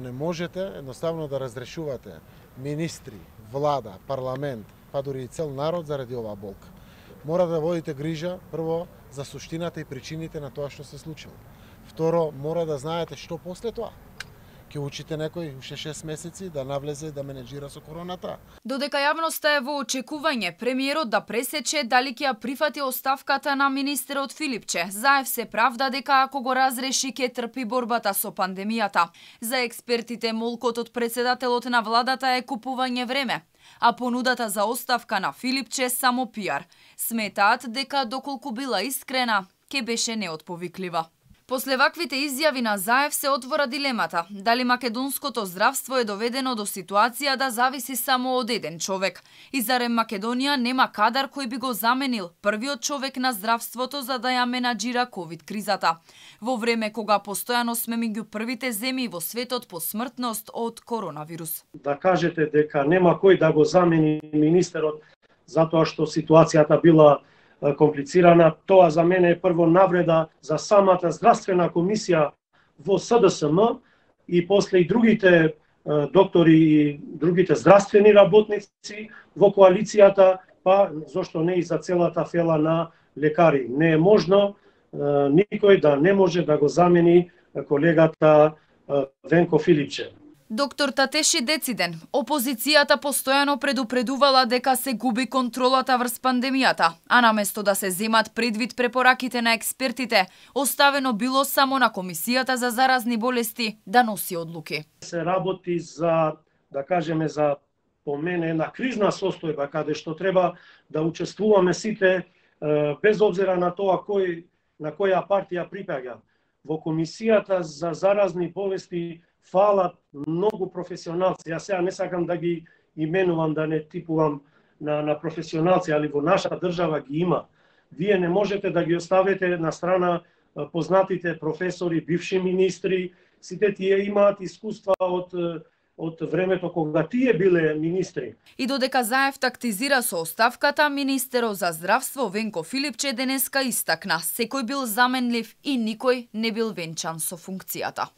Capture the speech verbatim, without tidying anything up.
Не можете едноставно да разрешувате министри, влада, парламент, па дури и цел народ заради оваа болка. Мора да водите грижа прво за суштината и причините на тоа што се случило. Второ, мора да знаете што после тоа. Ќе учите некој уште шест месеци да навлезе да менеджира со короната. Додека јавноста е во очекување премиерот да пресече дали ќе ја прифати оставката на министерот Филипче, Заев се правда дека ако го разреши ќе трпи борбата со пандемијата. За експертите молкот од председателот на владата е купување време, а понудата за оставка на Филипче само пиар. Сметаат дека доколку била искрена, ќе беше неотповиклива. После ваквите изјави на Заев се отвора дилемата дали македонското здравство е доведено до ситуација да зависи само од еден човек. И зарем Македонија нема кадар кој би го заменил првиот човек на здравството за да ја менаџира ковид кризата. Во време кога постојано сме меѓу првите земји во светот по смртност од коронавирус. Да кажете дека нема кој да го замени министерот затоа што ситуацијата била комплицирана, тоа за мене е прво навреда за самата здравствена комисија во С Д С М и после и другите доктори и другите здравствени работници во коалицијата, па зошто не и за целата фела на лекари. Не е можно никој да не може да го замени колегата Венко Филипче. Доктор Татеши Дециден, опозицијата постојано предупредувала дека се губи контролата врз пандемијата, а наместо да се земат предвид препораките на експертите, оставено било само на Комисијата за заразни болести да носи одлуки. Се работи за, да кажеме, за по мене една кризна состојба каде што треба да учествуваме сите без обзира на тоа кој на која партија припаѓа. Во Комисијата за заразни болести фалат многу професионалци. Јас сега не сакам да ги именувам, да не типувам на, на професионалци, али во нашата држава ги има. Вие не можете да ги оставите на страна познатите професори, бивши министри, сите тие имаат искуства од од времето кога тие биле министри. И додека Заев тактизира со оставката, министерот за здравство Венко Филипче денеска истакна: секој бил заменлив и никој не бил венчан со функцијата.